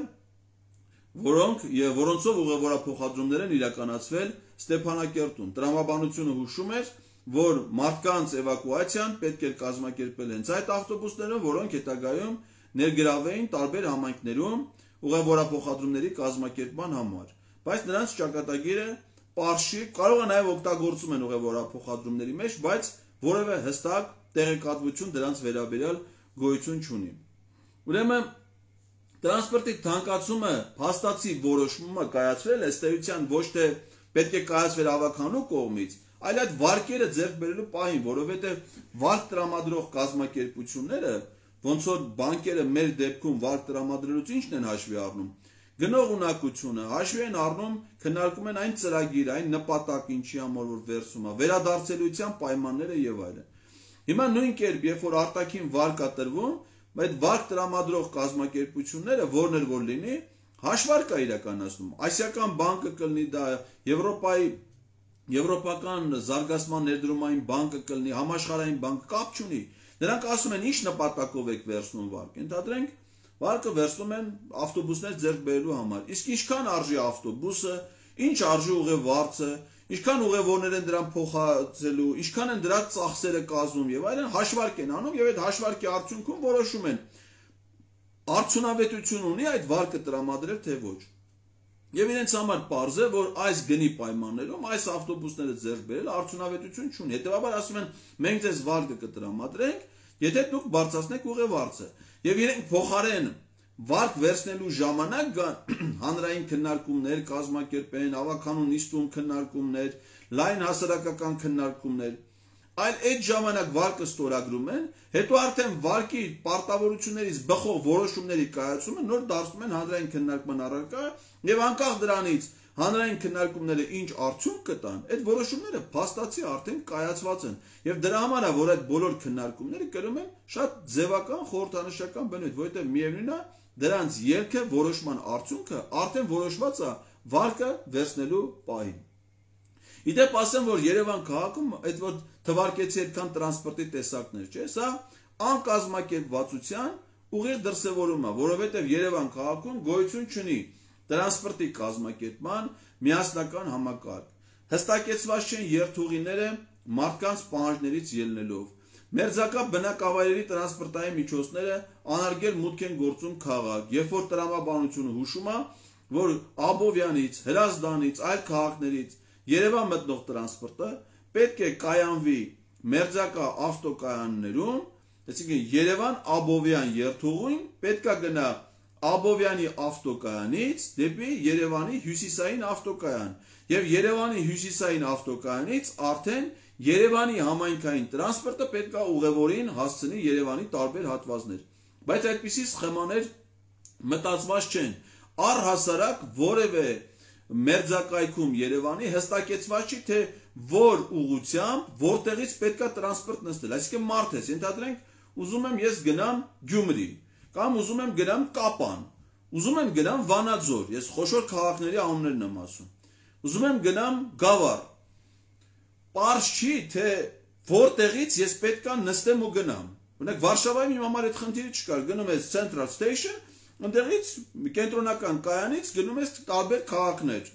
որոնցով ուղևորափոխադրումներ են իրականացվել Ստեփանակերտում։ Տրամաբանությունը հուշում էր, որ մարդկանց էվակուացիան պետք է կազմակերպել հենց այդ ավտոբուսներով, որոնք հետագայում ներգրավվեին տարբեր համայնքներում ուղևորափոխադրումների կազմակերպման համար։ Բայց նրանց ճակատագիրը պարշի, կարող է նաև օգտագործում են ուղևորափոխադրումների մեջ, բայց որևէ հստակ տեղեկատվություն դրանց վերաբերյալ գոյություն չունի։ Ուրեմն տրանսպորտի թանկացումը փաստացի որոշումը կայացվել է ըստ էության ոչ թե պետք է կայացվեր ավականու կողմից, այլ այդ վարկերը ձեռք բերելու պահին, որովհետև վարկ տրամադրող կազմակերպությունները, ոնց որ բանկերը մեր դեպքում վարկ տրամադրելուց ինչն են հաշվի առնում, գնող ունակությունը, հաշվի են առնում, քննարկում են այն ծրագիրը, այն նպատակ, ինչի համար որ վերցում է, վերադարձելիության պայմանները եւ այլն։ Հիմա նույն կերպ, երբ որ արտաքին վարկ է տրվում, այդ վարկ տրամադրող կազմակերպությունները, որն էլ որ լինի, հաշվարկ է իրականացնում։ Ասիական բանկը կլինի դա, Եվրոպական զարգացման ներդրումային բանկը կլինի, համաշխարհային բանկը, կապ չունի։ Նրանք ասում են, ինչ նպատակով եք վերցնում վարկ։ Ենթադրենք, վարկը վերցնում են ավտոբուսներ ձեռք բերելու համար։ Իսկ ինչքան արժի ավտոբուսը, ինչ արժի ուղևորը, ինչքան ուղևորներ են դրան փոխածելու, ինչքան են դրա ծախսերը կազմում եւ այլն, հաշվարկ են անում եւ այդ հաշվարկի արդյունքում որոշում են արդյունավետություն ունի այդ վարկը տրամադրել թե ոչ։ Եվ իրենց համար պարզ է, որ այս գնի պայմաններում այս ավտոբուսները ձեռք բերել արդյունավետություն չունի։ Հետևաբար ասում են, մենք ձեզ վարկը կտրամադրենք, եթե դուք բարձրացնեք ուղևորը։ Եվ իրենք փոխարեն վարկ վերցնելու ժամանակ հանրային քննարկումներ կազմակերպեն, ավականու նիստում քննարկումներ, լայն հասարակական քննարկումներ, այլ այդ ժամանակ վարկը ստորագրում են, հետո արդեն վարկի պարտավորություններից բխող որոշումների կայացումը նոր դարձնում են հանրային քննարկման առարկա եւ անկախ դրանից հանրային քննարկումները ինչ արդյունք կտան, այդ որոշումները փաստացի արդեն կայացված են եւ դրա համար է որ այդ բոլոր քննարկումները կրում են շատ ձևական խորհրդանշական բնույթ, որովհետեւ միևնույնն է դրանց ելքը որոշման արդյունքը արդեն որոշված է վարկը վերցնելու պահին։ Իդեպ ասեմ, որ Երևան քաղաքում այդ որ թվարկեցի այդքան տրանսպորտի տեսակներ, չէ՞, սա անկազմակերպվածության ուղիղ դրսևորում է, որովհետև Երևան քաղաքում գոյություն չունի տրանսպորտի կազմակերպման միասնական համակարգ։ Հստակեցված չեն երթուղիները մարդկանց պահանջներից ելնելով։ Մերձակա բնակավայրերի տրանսպորտային միջոցները անարգել մուտք են գործում քաղաք, երբ որ տրամաբանությունը հուշում է, որ Աբովյանից, Հրազդանից, այլ քաղաքներից Երևան մտնող տրանսպորտը պետք է կայանվի մերձակա ավտոկայաններում, այսինքն Երևան-Աբովյան երթուղին պետք է գնա Աբովյանի ավտոկայանից դեպի Երևանի հյուսիսային ավտոկայան, եւ Երևանի հյուսիսային ավտոկայանից արդեն Երևանի համայնքային տրանսպորտը պետք է ուղևորին հասցնի Երևանի տարբեր հատվածներ, բայց այդպիսի սխեմաներ մտածված չեն, առհասարակ որևէ մերձակայքում Երևանի հստակեցված չի, թե որ ուղղությամբ, որտեղից պետք է տրանսպորտ նստել, այսինքն մարդ ես, ենթադրենք ուզում եմ ես գնամ Գյումրի, կամ ուզում եմ գնամ Կապան, ուզում եմ գնամ Վանաձոր, ես խոշոր քաղաքների անուններն եմ ասում, ուզում եմ գնամ Գավառ, պարզ չի, թե որտեղից ես պետք է նստեմ ու գնամ, օրինակ Վարշավայում իմ համար այդ խնդիրը չկար, գնում ես Central Station, ընդեղից կենտրոնական կայանից գնում ես տարբեր քաղաքներ,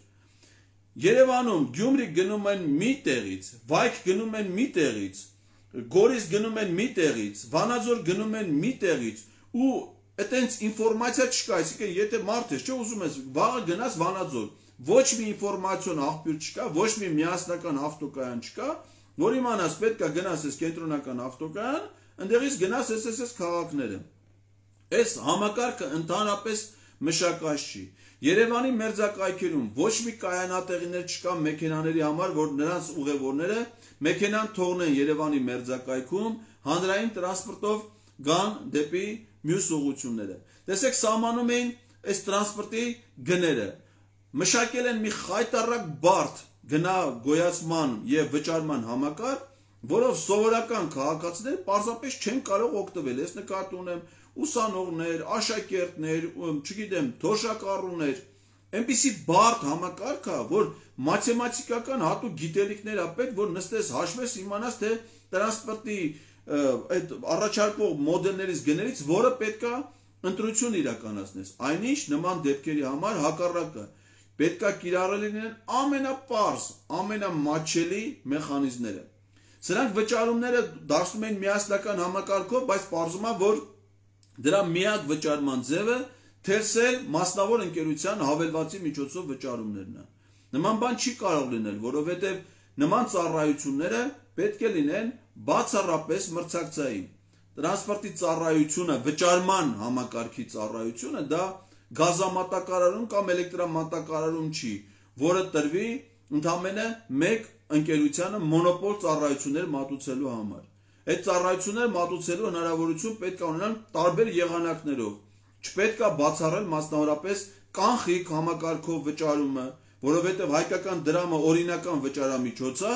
Երևանում Գյումրի գնում են մի տեղից, Վայք գնում են մի տեղից, Գորիս գնում են մի տեղից, Վանաձոր գնում են մի տեղից ու այտենց ինֆորմացիա չկա, այսինքն եթե մարդ ես, չէ ուզում ես վաղը գնաս Վանաձոր, ոչ մի ինֆորմացիոն աղբյուր չկա, ոչ մի միասնական ավտոկայան չկա, որ իմանաս պետք է գնաս այս կենտրոնական ավտոկայան, ընդեղից գնաս այս քաղաքները։ Այս համակարգը ընդհանրապես մշակած չի։ Երևանի մերձակայքերում ոչ մի կայանատեղիներ չկա մեքենաների համար, որ նրանց ուղևորները մեքենան թողնեն Երևանի մերձակայքում, հանրային տրանսպորտով գան դեպի մյուս ուղղությունները։ Տեսեք, սահմանում էին այս տրանսպորտի գները, մշակել են մի խայտառակ բարդ գնա գոյացման եւ վճարման համակարգ, որով սովորական քաղաքացիները պարզապես չեն կարող օգտվել։ Ես նկատի ունեմ ուսանողներ, աշակերտներ, չգիտեմ, թոշակառուներ, այնպիսի բարդ համակարգ է, որ մաթեմատիկական հատուկ գիտելիքներ ա պետք, որ նստես հաշվես իմանաս, թե տրանսպորտի այդ առաջարկող մոդելներից գներից որը պետք է ընտրություն իրականացնես։ Այնինչ նման դեպքերի համար հակառակը պետք է կիրառել լինեն ամենապարզ, ամենամատչելի մեխանիզմները։ Սրանք վճարումները դարձնում են միասնական համակարգով, բայց պարզում է, որ դրա միակ վճարման ձևը թերսել մասնավոր ընկերության հավելվածի միջոցով վճարումներն է։ Նման բան չի կարող լինել, որովհետև նման ծառայությունները պետք է լինեն բացառապես մրցակցային։ Տրանսպորտի ծառայությունը, վճարման համակարգի ծառայությունը դա գազամատակարարում կամ էլեկտրամատակարարում չի, որը տրվի ընդամենը մեկ ընկերությանը մոնոպոլ ծառայություններ մատուցելու համար։ Այդ ծառայությունները մատուցելու հնարավորություն պետք է ունենան տարբեր եղանակներով։ Չպետք է բացառել մասնավորապես կանխիկ համակարգով վճարումը, որովհետև հայկական դրամը օրինական վճարամիջոց է,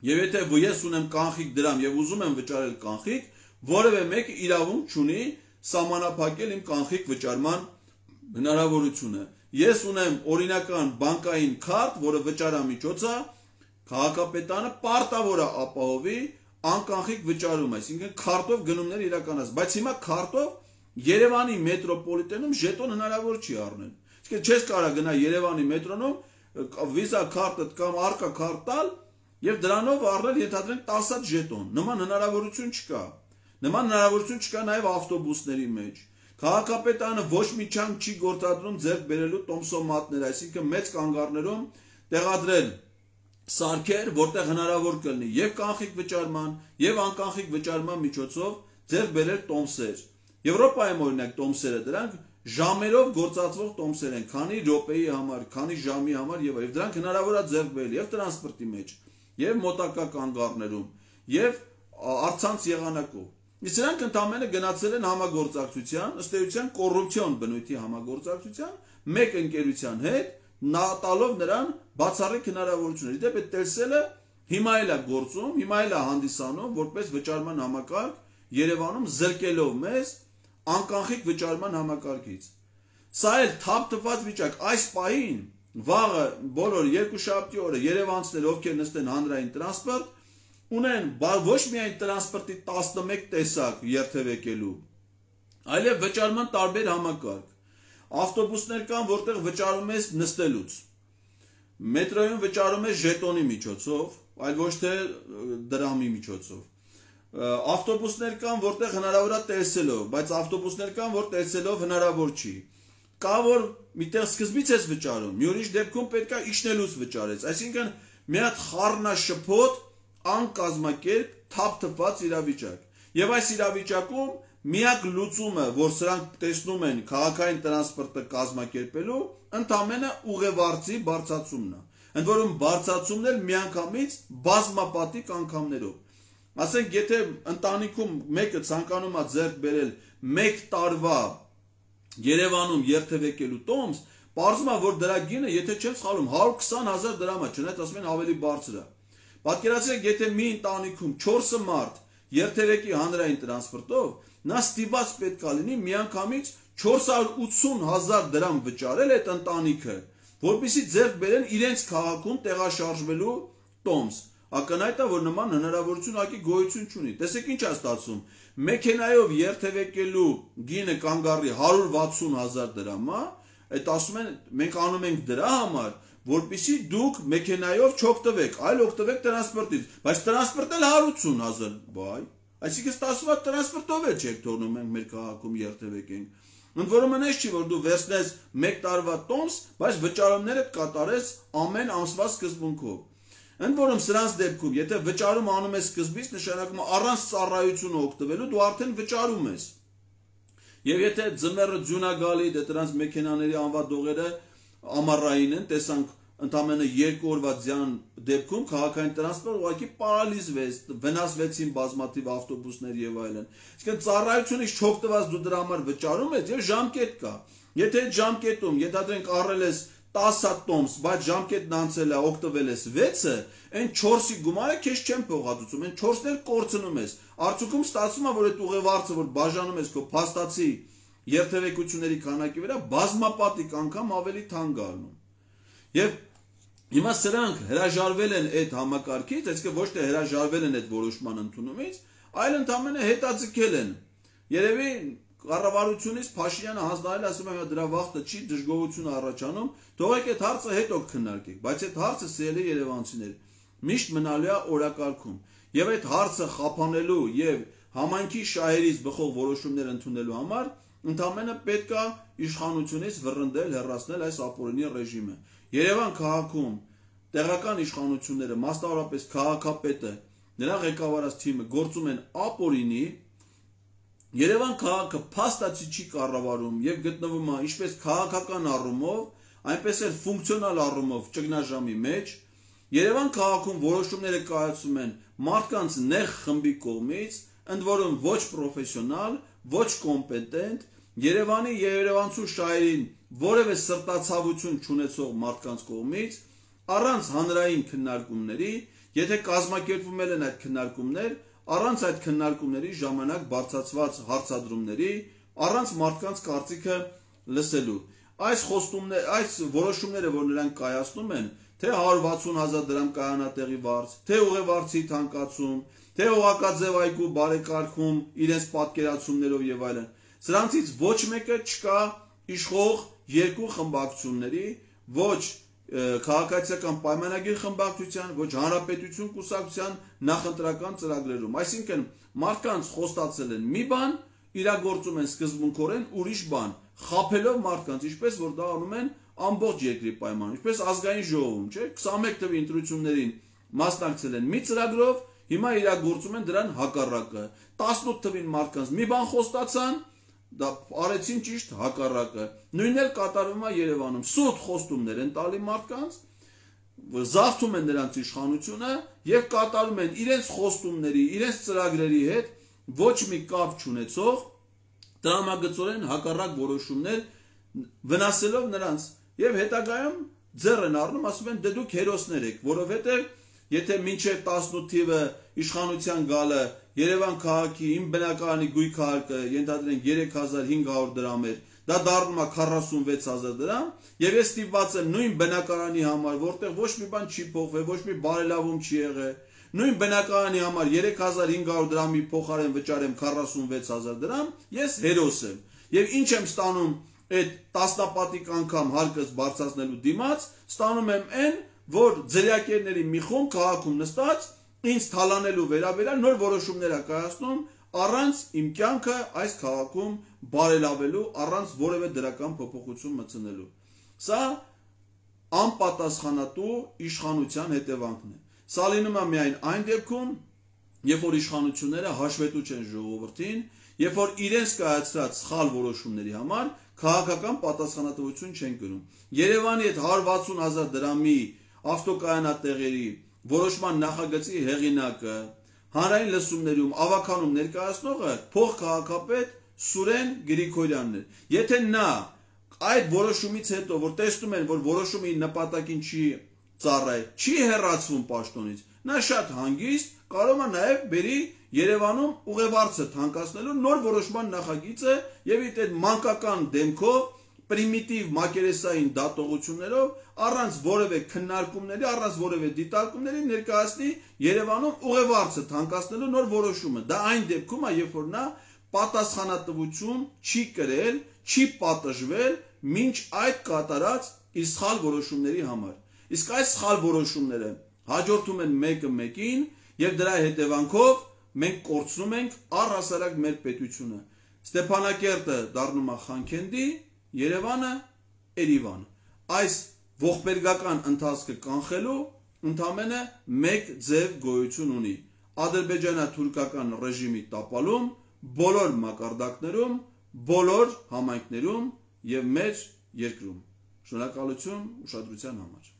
եւ եթե ես ունեմ կանխիկ դրամ եւ ուզում եմ վճարել կանխիկ, որևէ մեկը իրավունք չունի սահմանափակել իմ կանխիկ վճարման հնարավորությունը։ Ես ունեմ օրինական բանկային քարտ, որը վճարամիջոց է, քաղաքապետարանը պարտավոր է ապահովի անկանխիկ վճարում, այսինքն քարտով գնումներ իրականացնել, բայց հիմա քարտով Երևանի մետրոպոլիտենում ժետոն հնարավոր չի առնել։ Իսկ չես կարող գնա Երևանի մետրոնում վիզա քարտը կամ արկա քարտ տալ եւ դրանով առնել ենթադրենք 10 հատ ժետոն։ Նման հնարավորություն չկա։ Նման հնարավորություն չկա նաեւ ավտոբուսների մեջ։ Քաղաքապետարանը ոչ մի չանք չի գործադրում ձեռք բերելու տոմսոմատներ, այսինքն մեծ կանգառներում տեղադրել սարքեր, որտեղ հնարավոր կլինի եւ կանխիկ վճարման եւ անկանխիկ վճարման միջոցով ձեռք բերել տոմսեր։ Եվրոպայում օրինակ տոմսերը դրանք ժամերով գործածվող տոմսեր են, քանի րոպեի համար, քանի ժամի համար եւ դրանք հնարավոր է ձեռք բերել եւ տրանսպորտի մեջ, եւ մոտակա կանգառներում, եւ առցանց եղանակով։ Իսկ նրանք ընդամենը գնացել են համագործակցության, ըստ էության կոռուպցիոն բնույթի համագործակցության մեկ ընկերության հետ, տալով նրան բացառիկ հնարավորություններ։ Իդեպ այդ տեսելը հիմա էլ է գործում, հիմա էլ է հանդիսանում որպես վճարման համակարգ Երևանում զրկելով մեզ անկանխիկ վճարման համակարգից։ Սա էլ թափված վիճակ, այս պահին վաղը բոլոր երկուշաբթի օրը երևանցիներ, ովքեր նստեն հանրային տրանսպորտ, ունեն ոչ միայն տրանսպորտի 11 տեսակ երթևեկելու, այլև վճարման տարբեր համակարգ։ Ավտոբուսներ կան, որտեղ վճարում ես նստելուց։ Մետրոյում վճարում ես ժետոնի միջոցով, այլ ոչ թե դրամի միջոցով։ Ավտոբուսներ կան, որտեղ հնարավոր է տեսելով, բայց ավտոբուսներ կան, որ տեսելով հնարավոր չի։ Կա որ միտեղ սկզբից ես վճարում, մի ուրիշ դեպքում պետք է իջնելուց վճարես, այսինքն մի հատ խառնաշփոթ, անկազմակերպ, թափված իրավիճակ։ Եվ այս իրավիճակում միակ լուծումը, որ սրանք տեսնում են քաղաքային տրանսպորտը կազմակերպելու, ընդամենը ուղևորցի բարձրացումն է։ ընդ որում բարձրացումներ միանգամից բազմապատիկ անգամներով։ Ասենք, եթե ընտանիքում մեկը ցանկանում է ձեռք բերել 1 տարվա Երևանում երթևեկելու տոմս, պարզվում է, որ դրա գինը, եթե չեմ սխալվում, 120,000 դրամ է, չնայած ասում են ավելի բարձր է։ Պատկերացրեք, եթե մի ընտանիքում 4 մարդ երթևեկի հանրային տրանսպորտով, նա ստիպված պետք է լինի միանգամից 480,000 դրամ վճարել այդ ընտանիքը, որպեսզի ձեռք բերեն իրենց քաղաքում տեղաշարժվելու տոմս։ Ակնհայտ է, որ նման հնարավորություն ակի գոյություն չունի։ Տեսեք ինչ է ստացվում։ Մեքենայով երթևեկելու գինը կանգ առի 160,000 դրամ, այդ ասում են մենք անում ենք դրա համար, որպեսզի դուք մեքենայով չօգտվեք, այլ օգտվեք տրանսպորտից, բայց տրանսպորտը 180,000, բայ, այսինքն ստացվում է տրանսպորտով էլ չեք թողնում մենք մեր քաղաքում երթևեկենք։ Ընդ որում այնպես չի, որ դու վերցնես 1 տարվա տոմս, բայց վճարումներդ կատարես ամեն ամսվա սկզբունքով։ Ընդ որում սրանց դեպքում, եթե վճարում անում ես սկզբից, նշանակում է առանց ծառայությունը օգտվելու դու արդեն վճարում ես։ Եվ եթե ձմեռը ձյուն է գալի, դե դրանց մեքենաների անվադողերը ամառային են, տեսանք ընդամենը 2 օրվա ձյան դեպքում քաղաքային տրանսպորտը ուղղակի պարալիզվեց, վնասվեցին բազմաթիվ ավտոբուսներ եւ այլն։ Իսկ ծառայությունից չօգտված դու դրա համար վճարում ես եւ ժամկետ կա։ Եթե այդ ժամկետում ենթադրենք առել ես 10 տոմս, բայց ժամկետն անցել է, օգտվել ես 6-ը, այն 4-ի գումարը քեզ չեն փոխհատուցում, այն 4-ն էլ կորցնում ես։ Արդյունքում ստացվում է, որ այդ ուղևորցը, որ բաժանում ես քո փաստացի երթևեկությունների քանակի վրա, բազմապատիկ անգամ ավելի թանկ առնում։ Եվ հիմա սրանք հրաժարվել են այդ համակարգից, այսինքն ոչ թե հրաժարվել են այդ որոշման ընդունումից, այլ ընդամենը հետաձգել են։ Երևի կառավարությունից Փաշինյանը հանձնարարել ասում է դրա վախտը չի, դժգոհություն առաջանում, թողեք այդ հարցը հետո քննարկենք, բայց այդ հարցը սիրելի երևանցիներ միշտ մնալու է օրակարգում։ Եվ այդ հարցը խափանելու եւ համայնքի շահերից բխող որոշումներ ընդունելու համար ընդամենը պետք է իշխանությունից վռնդել, հեռացնել այս ապօրինի ռեժիմը։ Երևան քաղաքում տեղական իշխանությունները, մասնավորապես քաղաքապետը, նրա ղեկավարած թիմը գործում են ապօրինի։ Երևան քաղաքը փաստացի չի կառավարում եւ գտնվում է ինչպես քաղաքական առումով, այնպես էլ ֆունկցիոնալ առումով ճգնաժամի մեջ։ Երևան քաղաքում որոշումները կայացում են մարդկանց նեղ խմբի կողմից, ընդ որում ոչ պրոֆեսիոնալ, ոչ կոմպետենտ, Երևանի եւ երևանցու շահերին որևէ սրտացավություն չունեցող մարդկանց կողմից, առանց հանրային քննարկումների, եթե կազմակերպվում են այդ քննարկումներ, առանց այդ քննարկումների ժամանակ բարձրացված հարցադրումների, առանց մարդկանց կարծիքը լսելու։ Այս որոշումները, որ նրանք կայացնում են, թե 160,000 դրամ կայանատեղի վարձ, թե ուղևորցի թանկացում, թե օղակաձև այգու բարեկարգում իրենց պատկերացումներով եւ այլն, սրանցից ոչ մեկը չկա իշխող երկու խմբակցությունների, ոչ քաղաքացիական պայմանագիր խմբակցության, ոչ հանրապետություն կուսակցության նախընտրական ծրագրերում։ Այսինքն մարդկանց խոստացել են մի բան, իրագործում են սկզբունքորեն ուրիշ բան, խաբելով մարդկանց, ինչպես որ դա անում են ամբողջ երկրի պայմաններում, ինչպես ազգային ժողովում, չէ՞, 21 թվի ընտրություններին մասնակցել են մի ծրագրով, հիմա իրագործում են դրան հակառակը։ 18 թվին մարդկանց մի բան խոստացան, դա արեցին ճիշտ հակառակը։ Նույնն էլ կատարվում է Երևանում։ Սուտ խոստումներ են տալի մարդկանց, զարթում են նրանց իշխանությունը եւ կատարում են իրենց խոստումների, իրենց ծրագրերի հետ ոչ մի կապ չունեցող տրամագծորեն հակառակ որոշումներ վնասելով նրանց եւ հետագայում ձեռ են առնում, ասում են դե դուք հերոսներ եք, որովհետեւ եթե մինչև 18 թիվը իշխանության գալը Երևան քաղաքի իմ բնակարանի գույքարկը ենթադրենք 3500 դրամ էր, դա դառնում է 46000 դրամ, եւ ես ստիպված եմ նույն բնակարանի համար, որտեղ ոչ մի բան չի փոխվել, ոչ մի բարելավում չի եղել, նույն բնակարանի համար 3500 դրամի փոխարեն վճարեմ 46000 դրամ, ես հերոս եմ։ Եվ ինչ եմ ստանում այդ տասնապատիկ անգամ հարկս բարձրացնելու դիմաց, ստանում եմ այն, որ ձերյակերների մի խումբ քաղաքում նստած ինձ թալանելու վերաբերյալ նոր որոշումներ է կայացնում առանց իմ կյանքը այս քաղաքում բարելավելու, առանց որևէ դրական փոփոխություն մտցնելու։ Սա անպատասխանատու իշխանության հետևանքն է։ Սա լինում է միայն այն դեպքում, երբ որ իշխանությունները հաշվետու չեն ժողովրդին, երբ որ իրենց կայացրած սխալ որոշումների համար քաղաքական պատասխանատվություն չեն կրում։ Երևանի այդ 160,000 դրամի ավտոկայանատեղերի որոշման նախագծի հեղինակը, հանրային լսումներում ավականում ներկայացնողը փոխքաղաքապետ Սուրեն Գրիգորյանն էր։ Եթե նա այդ որոշումից հետո, որ տեսնում են, որ որոշումը իր նպատակին չի ծառայել, չի հեռացվում պաշտոնից, նա շատ հանգիստ կարող է նաև բերի Երևանում ուղևորցը թանկացնելու նոր որոշման նախագիծը եւ այդ մանկական դեմքով պրիմիտիվ մակերեսային դատողություններով առանց որևէ քննարկումների, առանց որևէ դիտարկումների ներկայացնի Երևանում ուղևորցը թանկացնելու նոր որոշումը։ Դա այն դեպքում է, երբ որ նա պատասխանատվություն չի կրել, չի պատժվել մինչ այդ կատարած իր սխալ որոշումների համար։ Իսկ այս սխալ որոշումները հաջորդում են մեկը մեկին եւ դրա հետևանքով մենք կորցնում ենք առհասարակ մեր պետությունը։ Ստեփանակերտը դառնում է Խանքենդի, Երևանը Երևան։ Այս ողբերգական ընթացքը կանխելու ընդամենը մեկ ձև գոյություն ունի՝ ադրբեջանա-թուրքական ռեժիմի տապալում բոլոր մակարդակներում, բոլոր համայնքներում եւ մեր երկրում։ Շնորհակալություն ուշադրության համար։